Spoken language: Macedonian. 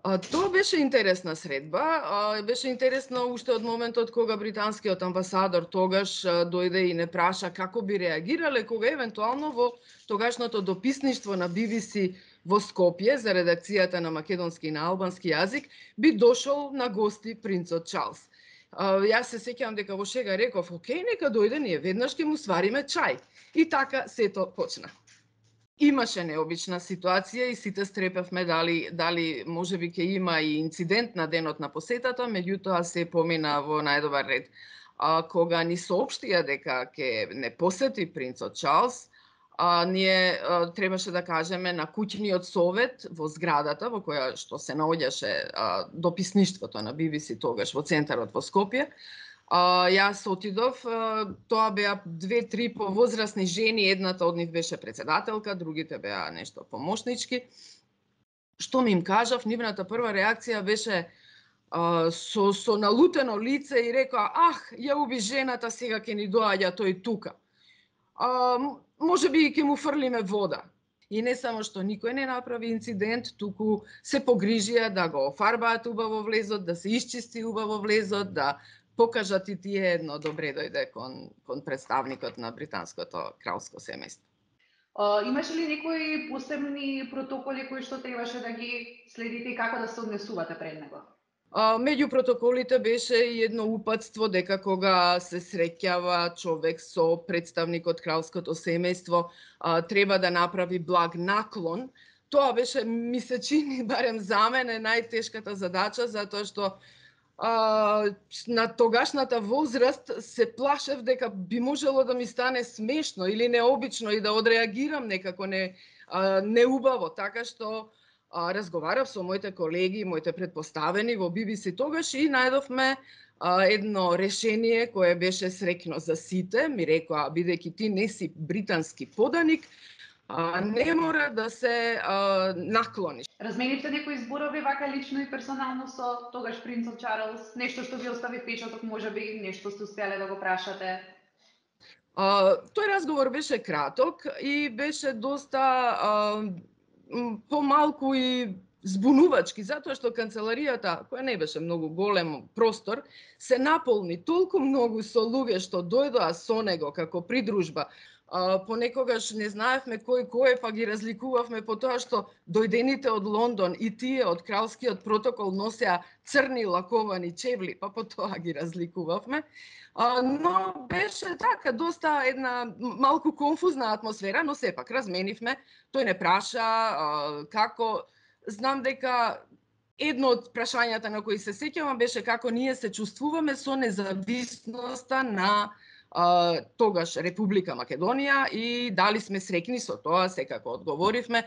Тоа беше интересна средба. Беше интересно уште од моментот кога британскиот амбасадор тогаш дојде и не праша како би реагирале кога евентуално во тогашното дописништво на BBC во Скопје за редакцијата на македонски и на албански јазик би дошол на гости принцот Чарлс. Јас се сеќавам дека во шега реков, окей, нека дојде, ние веднаш ќе му свариме чај. И така сето почна. Имаше необична ситуација и сите стрепевме дали можеби ќе има и инцидент на денот на посетата, меѓутоа се помина во најдобар ред. Кога ни соопштија дека ќе не посети принцот Чарлс, ние требаше да кажеме на куќниот совет во зградата во која што се наоѓаше дописништвото на BBC тогаш во центарот во Скопје. Јас отидов, тоа беа 2-3 повозрасни жени, едната од нив беше председателка, другите беа нешто помошнички. Што ми им кажав, нивната прва реакција беше со налутено лице и рекоа, ја уби жената, сега ќе ни доаѓа тој тука. Можеби ќе му фрлиме вода. И не само што никој не направи инцидент, туку се погрижија да го офарбаат убаво влезот, да се исчисти убаво влезот, да покажат и тие едно добре дојде кон представникот на британското кралско семејство. Имаше ли некои посебни протоколи кои што требаше да ги следите и како да се однесувате пред него? Меѓу протоколите беше и едно упатство дека кога се среќава човек со представник од кралското семејство, треба да направи благ наклон. Тоа беше, ми се чини, барем за мене, најтешката задача, затоа што на тогашната возраст се плашев дека би можело да ми стане смешно или необично и да одреагирам некако неубаво, така што разговарав со моите колеги, моите предпоставени во BBC тогаш и најдовме едно решение кое беше среќно за сите. Ми рекоа, бидејќи ти не си британски поданик, не мора да се наклониш. Разменивте некои зборови вака лично и персонално со тогаш принцот Чарлс? Нешто што ви остави впечаток, можеби нешто сте успеле да го прашате? Тој разговор беше краток и беше доста помалку и збунувачки, затоа што канцеларијата, која не беше многу голем простор, се наполни толку многу со луѓе што дојдоа со него како придружба. Понекогаш не знаевме кој е, па ги разликувавме по тоа што дојдените од Лондон и тие од кралскиот протокол носеа црни лаковани чевли, па по тоа ги разликувавме. Но беше така доста една малку конфузна атмосфера, но сепак разменивме. Тој не праша како, знам дека едно од прашањата на кои се сеќавам беше како ние се чувствуваме со независноста на тогаш Република Македонија и дали сме среќни со тоа, секако одговоривме.